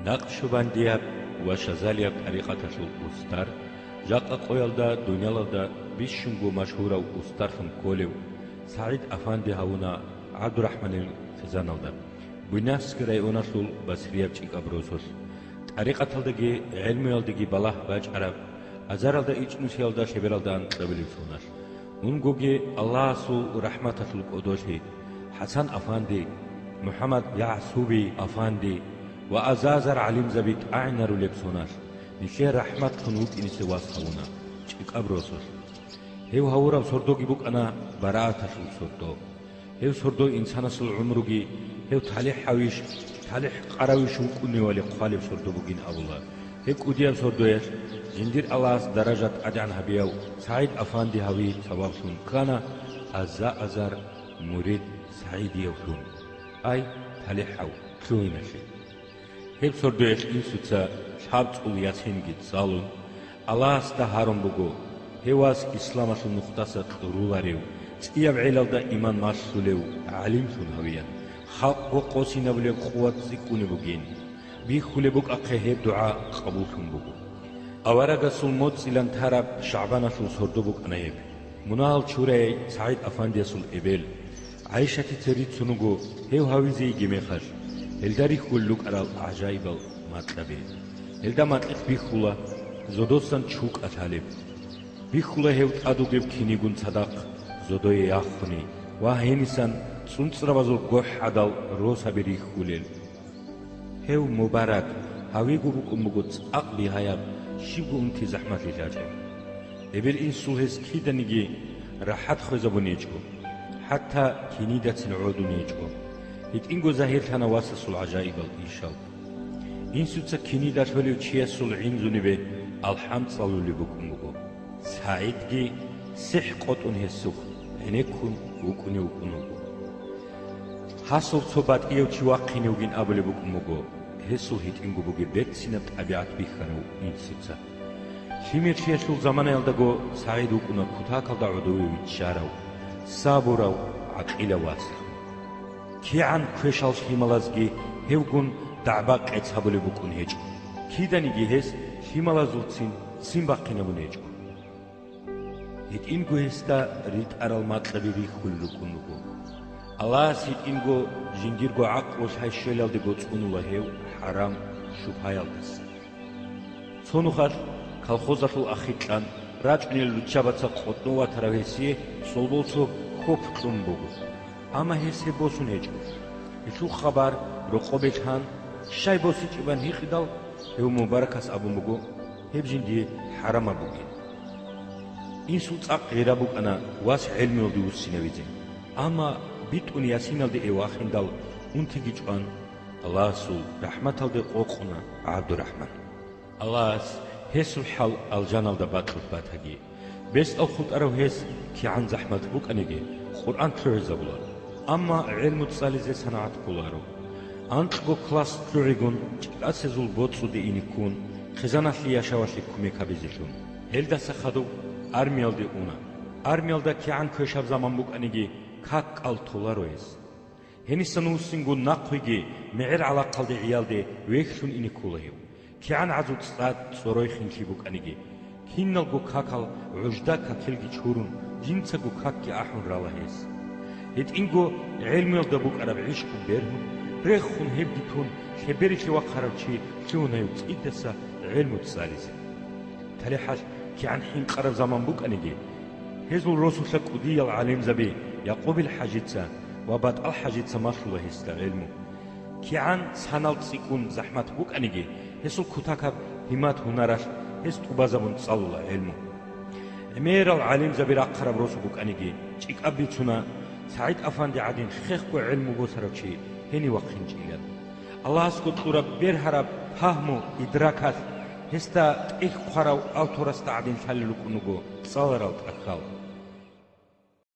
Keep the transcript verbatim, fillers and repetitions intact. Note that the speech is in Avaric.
Накъшубандияб ва шазалияб тӀарикъаталъул устар, жакъа къоялда дуниялалда бищунго машгьурав устарлъун кколев СагӀид-афанди гьавуна ГӀабдурахӀманил хъизаналда, Буйнакскил районалъул Басрияб ЧӀикӀаб росулъ, тӀарикъаталдаги гӀелмуялдаги балагь бачӀараб, азаралда ичӀнусиялда лъебералда анкьабилеб соналъ. Унгоги Аллагьасул рахӀматалъул кӀодолъи, ХӀасан-афанди, МухӀаммад ЯгӀсуби-афанди ва азар-гӀалимзаби тӀагӀинарулеб соналъ, нилъее рахӀматлъун вукӀиниса вас гьавуна ЧӀикӀаб росулъ. Гьев гьавураб сордоги букӀана барааталъул сордо. Гьев сордо инсанасул гӀумруги гьев талихӀавищ, талихӀ къаравищ вукӀуневали хъвалеб сордо бугин абула. Гьеб кӀудияб сордоялъ жиндир Аллагьас даража тӀадегӀан гьабияв СагӀид-афанди гьавияб сабаблъун ккана аза-азар мурид СагӀидиявлъун, ай, талихӀав, лъугьиналъе. Гьеб сордоялъ инсуца лъабцӀул ясинги цӀалун, Аллагьасда гьарун буго, гьев вас исламалъул нухдаса кьуруларев, цӀияб гӀелалда иман малъулев гӀалимлъун гьавеян, халкъго къосинабулеб къуват цӀикӀкӀунеб бугин. Бихьулеб букӀахъе гьеб дугӀа къабуллъун буго. Аварагасул моцӀилан тараб ШагӀбаналъул сордо букӀана гьеб. Мунагьал чураяй СагӀид-афандиясул эбел ГӀайшатица рицун руго гьев гьавизе йигеб мехалъ, гьелда рихьулел рукӀарал гӀажаибал макьаби. Гьелда макьилъ бихьула зодосан чукӀа лъалеб. Бихьула гьев тӀад вугеб кинигун цадахъ зодое яхъуни ва гьенисан цӀунцӀрабазул гохӀ гӀадал росаби рихьулел. Гьев мубарак гьавиго букӀун буго цӀакъ бигьаяб, щибго унти захӀмалъи лъачӀеб. Эбел-инсул гьес киданиги рахӀат хвезабун гьечӀо, хӀатта кинидацин гӀодун гьечӀо. ГьитӀинго загьирлъана васасул гӀажаибал ишал. Инсуца кинида лъолев чиясул гӀинзунибе алхӀам цӀалулеб букӀун буго. СагӀидги сихӀ къотӀун гьесухъ гӀенеккун вукӀунев вукӀун вуго. Гьасул цо батӀияв чи вахъине вугин абулеб букӀун буго гьесул гьитӀинго бугеб берцинаб тӀабигӀат бихьарав инсуца. Лъимерлъиялъул заманаялдаго СагӀид вукӀуна кутакалда гӀодове виччарав, сабурав, гӀакъилав васалъун. КигӀан квешал лъималазги гьевгун дагӀба-къец гьабулеб букӀун гьечӀо, киданиги гьес лъималазулцин ццин бахъинабун гьечӀо. ГьитӀинго гьесда ритӀарал макьаби рихьулел рукӀун руго. Аллагьас гьитӀинго жиндирго гӀакълу-лъай щвелалдего цӀунула гьев хӀарам-шубгьаялдаса. Цо нухалъ колхозалъул ахикьан рачӀунел руччабаца къотӀнов ватарав гьесие цолбол цо хьоп кьун буго. Амма гьес гьеб босун гьечӀо. Гьелъул хабар рокъобе лъан, щай босичӀебан гьикъидал, гьев мубаракас абун буго, гьеб жиндие хӀарамаб бугин. Инсул цӀакъ гъира букӀана вас гӀелмуялде вуссинавизе, амма битӀун ясиналде эв вахиндал, унтиги чӀван, Аллагьасул рахӀматалде къокъуна ГӀабдурахӀман. Аллагьас гьесул хӀал алжаналда бакьулъ батаги. Бесдал хутӀарав гьес кигӀан захӀмат букӀаниги, Къуръан лъугӀизабула, амма гӀелму цӀализе санагӀат кколаро. Анкьго класс лъугӀигун, ЧӀикӀасезул боцӀуде ине ккун, хъизаналъе яшавалъе кумек гьабизелъун, гьелдаса хадуб армиялде уна. Армиялда кигӀан квешаб заман букӀаниги, как-кӀал толаро гьес. Гьенисан вуссингун нахъвиги мегӀер гӀалахъалде гӀиялде вехьлъун ине ккола гьев. КигӀан гӀазу цӀад цӀорой хинлъи букӀаниги, киналго какал гӀужда какилги чурун, жинцаго какги ахӀун рала гьес. ГьитӀинго гӀелмуялда букӀараб гӀишкъу бергьун, рехун гьебги тун, лъеберилъе вахъарав чи лъугьун гьев цӀидаса гӀелму цӀализе. ТалихӀалъ кигӀан хӀинкъараб заман букӀаниги, гьезул росулъа кӀудиял гӀалимзаби Якъубил ХӀажица ва БатӀал ХӀажица малъула гьесда гӀелму. КигӀан санал цӀикӀкӀун захӀмат букӀаниги, гьесул кутакаб гьиммат-гьунаралъ гьес тӀубазабун цӀалула гӀелму. ГӀемерал гӀалимзаби рахъараб росу букӀаниги, чӀикӀаб бицуна, СагӀид-афанди гӀадин хехго гӀелму босарав чи гьенив вахъинчӀилан. Аллагьасго кьураб бергьараб пагьму-идракалъ гьесда тӀехь хъварав авторасда гӀадин лъалел рукӀун руго цӀаларал тӀахьал.